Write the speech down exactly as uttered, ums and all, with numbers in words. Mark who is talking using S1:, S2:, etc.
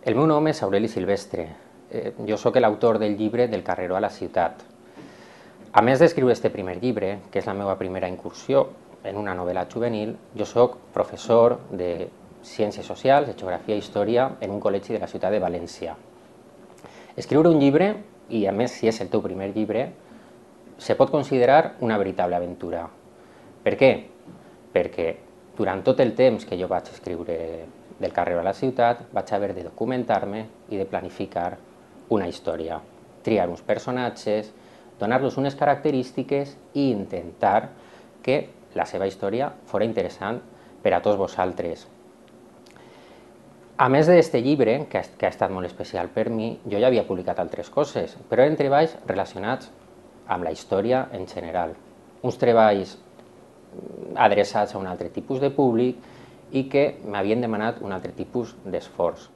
S1: El meu nom és Aureli Silvestre. Eh, jo sóc l'autor del llibre Del carreró a la ciutat. A més d'escriure este primer llibre, que és la meva primera incursió en una novel·la juvenil, jo sóc professor de Ciències Socials, de Geografia i Història en un col·legi de la ciutat de València. Escriure un llibre, i a més si és el teu primer llibre, se pot considerar una veritable aventura. Per què? Perquè durant tot el temps que jo vaig escriure Del carreró a la ciutat, vaig haver de documentar-me i de planificar una història, triar uns personatges, donar-los unes característiques i intentar que la seva història fos interessant per a tots vosaltres. A més d'aquest llibre, que ha estat molt especial per mi, jo ja havia publicat altres coses, però eren treballs relacionats amb la història en general. Uns treballs adreçats a un altre tipus de públic i que m'havien demanat un altre tipus d'esforç.